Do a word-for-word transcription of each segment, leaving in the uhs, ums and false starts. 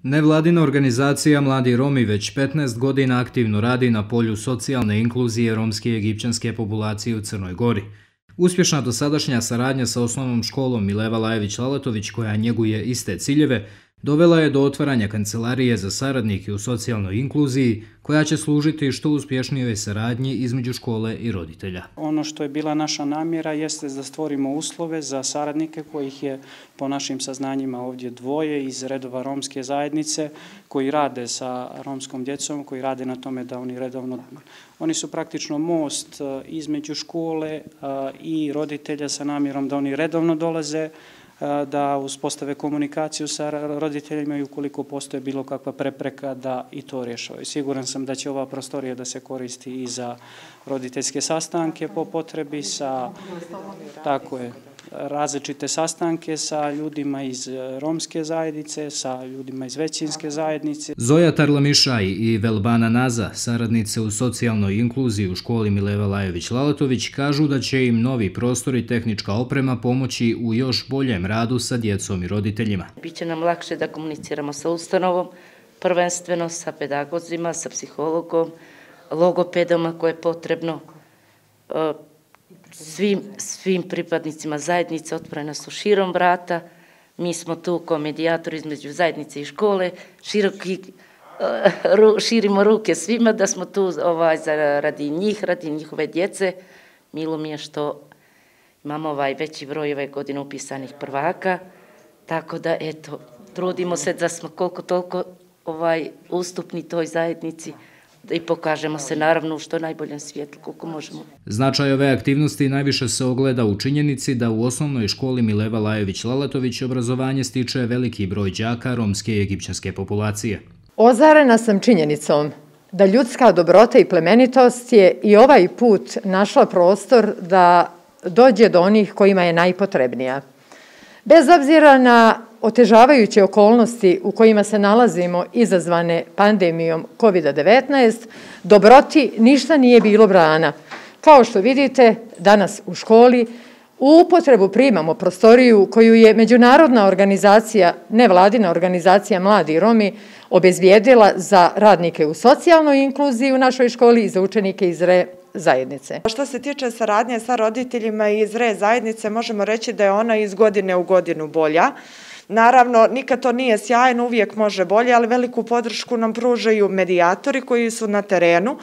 Nevladina organizacija Mladi Romi već petnaest godina aktivno radi na polju socijalne inkluzije romske i egipćanske populacije u Crnoj Gori. Uspješna dosadašnja saradnja sa osnovnom školom Mileva Lajević-Lalatović, koja njeguje iste ciljeve, dovela je do otvaranja kancelarije za saradnike u socijalnoj inkluziji, koja će služiti što uspješnijoj saradnji između škole i roditelja. Ono što je bila naša namjera jeste da stvorimo uslove za saradnike kojih je po našim saznanjima ovdje dvoje iz redova romske zajednice koji rade sa romskom djecom, koji rade na tome da oni redovno, oni su praktično most između škole i roditelja sa namjerom da oni redovno dolaze, da uspostave komunikaciju sa roditeljima i ukoliko postoje bilo kakva prepreka da i to rješavaju. Siguran sam da će ova prostorija da se koristi i za roditeljske sastanke po potrebi, sa tako je, različite sastanke sa ljudima iz romske zajednice, sa ljudima iz većinske zajednice. Zoja Tarlamišaj i Velbana Naza, saradnice u socijalnoj inkluziji u školi Mileva Lajević-Lalatović, kažu da će im novi prostor i tehnička oprema pomoći u još boljem radu sa djecom i roditeljima. Biće nam lakše da komuniciramo sa ustanovom, prvenstveno sa pedagozima, sa psihologom, logopedama koje je potrebno. Svim, svim pripadnicima zajednice otvorena su širom vrata. Mi smo tu kao medijatori između zajednice i škole. Široki, ru, širimo ruke svima da smo tu ovaj, radi njih, radi njihove djece. Milo mi je što imamo ovaj veći broj ove godine upisanih prvaka. Tako da, eto, trudimo se da smo koliko toliko ovaj, ustupni toj zajednici i pokažemo se naravno u što najboljem svijetlu koliko možemo. Značaj ove aktivnosti najviše se ogleda u činjenici da u osnovnoj školi Mileva Lajević-Lalatović obrazovanje stiče veliki broj đaka romske i egipćanske populacije. Ozarena sam činjenicom da ljudska dobrota i plemenitost je i ovaj put našla prostor da dođe do onih kojima je najpotrebnija. Bez obzira na otežavajuće okolnosti u kojima se nalazimo izazvane pandemijom kovid devetnaest, dobroti ništa nije bilo brana. Kao što vidite, danas u školi u upotrebu primamo prostoriju koju je međunarodna organizacija, nevladina organizacija Mladi Romi, obezbijedila za radnike u socijalnoj inkluziji u našoj školi i za učenike iz re zajednice. Što se tiče saradnje sa roditeljima iz re zajednice, možemo reći da je ona iz godine u godinu bolja. Naravno, nikad to nije sjajno, uvijek može bolje, ali veliku podršku nam pružaju medijatori koji su na terenu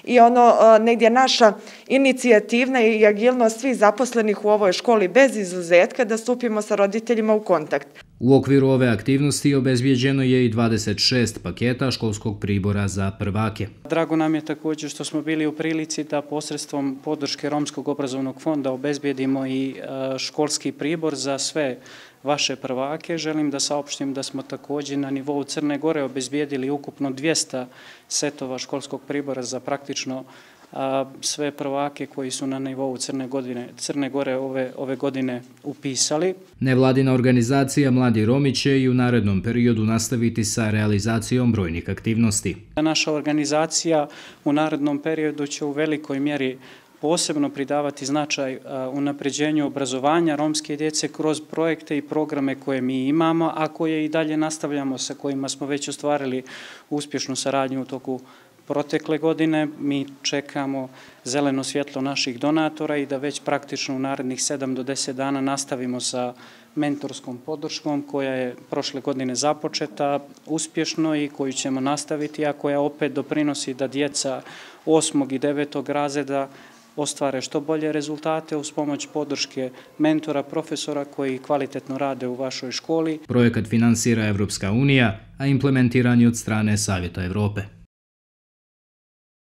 i ono negdje naša inicijativna i agilnost svih zaposlenih u ovoj školi bez izuzetka da stupimo sa roditeljima u kontakt. U okviru ove aktivnosti obezbijeđeno je i dvadeset šest paketa školskog pribora za prvake. Drago nam je također što smo bili u prilici da posredstvom podrške Romskog obrazovnog fonda obezbijedimo i školski pribor za sve vaše prvake. Želim da saopštim da smo također na nivou Crne Gore obezbijedili ukupno dvjesto setova školskog pribora za praktično a, sve prvake koji su na nivou Crne, godine, Crne Gore ove, ove godine upisali. Nevladina organizacija Mladi Romi će i u narednom periodu nastaviti sa realizacijom brojnih aktivnosti. Naša organizacija u narednom periodu će u velikoj mjeri posebno pridavati značaj unapređenju obrazovanja romske djece kroz projekte i programe koje mi imamo, a koje i dalje nastavljamo, sa kojima smo već ostvarili uspješnu saradnju u toku protekle godine. Mi čekamo zeleno svjetlo naših donatora i da već praktično u narednih sedam do deset dana nastavimo sa mentorskom podrškom koja je prošle godine započeta uspješno i koju ćemo nastaviti, a koja opet doprinosi da djeca osmog i devetog razreda ostvare što bolje rezultate uz pomoć podrške mentora, profesora koji kvalitetno rade u vašoj školi. Projekat finansira Evropska unija, a implementiran je od strane Savjeta Evrope.